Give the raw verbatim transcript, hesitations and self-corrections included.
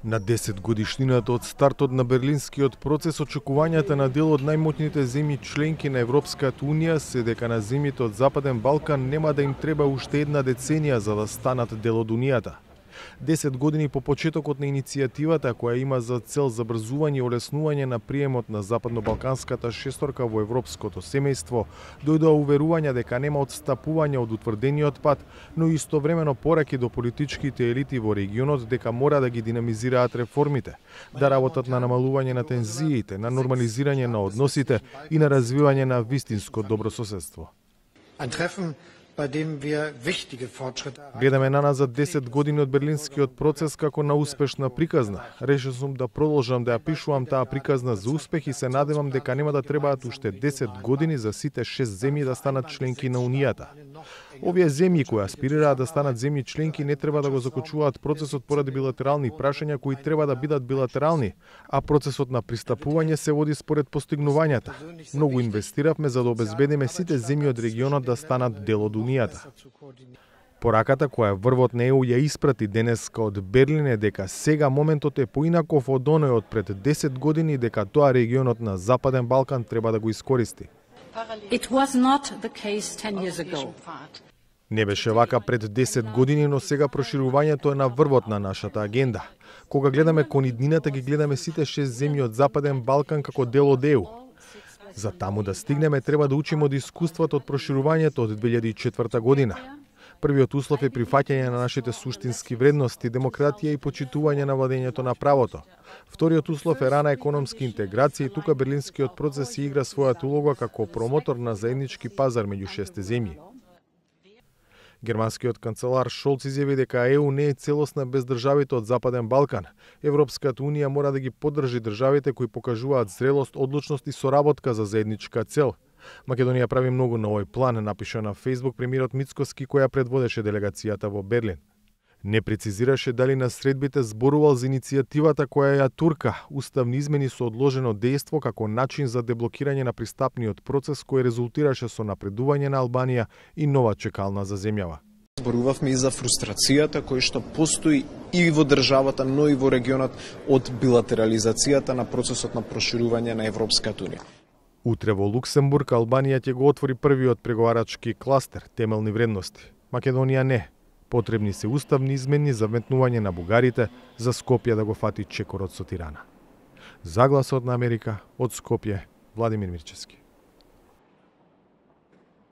На десет годишнината од стартот на Берлинскиот процес, очекувањата на дел од најмоćните земји членки на Европската Унија се дека на земјите од Западен Балкан нема да им треба уште една деценија за да станат дел од Унијата. десет години по почетокот на иницијативата, која има за цел забрзување и олеснување на приемот на западно-балканската шесторка во европското семејство, дојдоа уверувања дека нема отстапување од утврдениот пат, но истовремено пораки до политичките елити во регионот дека мора да ги динамизираат реформите, да работат на намалување на тензиите, на нормализирање на односите и на развивање на вистинско добрососедство. Гледаме наназад десет години од Берлинскиот процес како на успешна приказна. Решил сум да продолжам да ја пишувам таа приказна за успех и се надевам дека нема да требаат уште десет години за сите шест земји да станат членки на Унијата. Овие земји кои аспирираат да станат земји членки не треба да го закочуваат процесот поради билатерални прашања кои треба да бидат билатерални, а процесот на пристапување се води според постигнувањата. Многу инвестиравме за да обезбедиме сите земји од регионот да станат дел од Унијата. Пораката која врвот на Е У ја испрати денеска од Берлин е дека сега моментот е поинаков од оној од пред десет години, дека тоа регионот на Западен Балкан треба да го искористи. It was not the case ten years ago. Не беше вака пред десет години, но сега проширувањето е на врвот на нашата агенда. Кога гледаме кон иднината, ги гледаме сите шест земји од Западен Балкан како дел од Е У. За таму да стигнеме треба да учиме од искуството од проширувањето од две илјади и четврта година. Првиот услов е прифаќање на нашите суштински вредности, демократија и почитување на владењето на правото. Вториот услов е рана економска интеграција и тука Берлинскиот процес си игра својата улога како промотор на заеднички пазар меѓу шесте земји. Германскиот канцелар Шолц изјави дека Е У не е целосна без државите од Западен Балкан. Европската Унија мора да ги поддржи државите кои покажуваат зрелост, одлучност и соработка за заедничка цел. Македонија прави многу на овој план, напиша на Фејсбук премиерот Мицкоски, која предводеше делегацијата во Берлин. Не прецизираше дали на средбите зборувал за иницијативата која ја турка, уставни измени со одложено дејство како начин за деблокирање на пристапниот процес кој резултираше со напредување на Албанија и нова чекална за земјава. Зборувавме и за фрустрацијата која што постои и во државата, но и во регионот од билатерализацијата на процесот на проширување на Европската Унија. Утре во Луксембург Албанија ќе го отвори првиот преговарачки кластер темелни вредности. Македонија не. Потребни се уставни измени за вметнување на бугарите за Скопје да го фати чекорот со Тирана. За Гласот на Америка од Скопје, Владимир Мирчевски.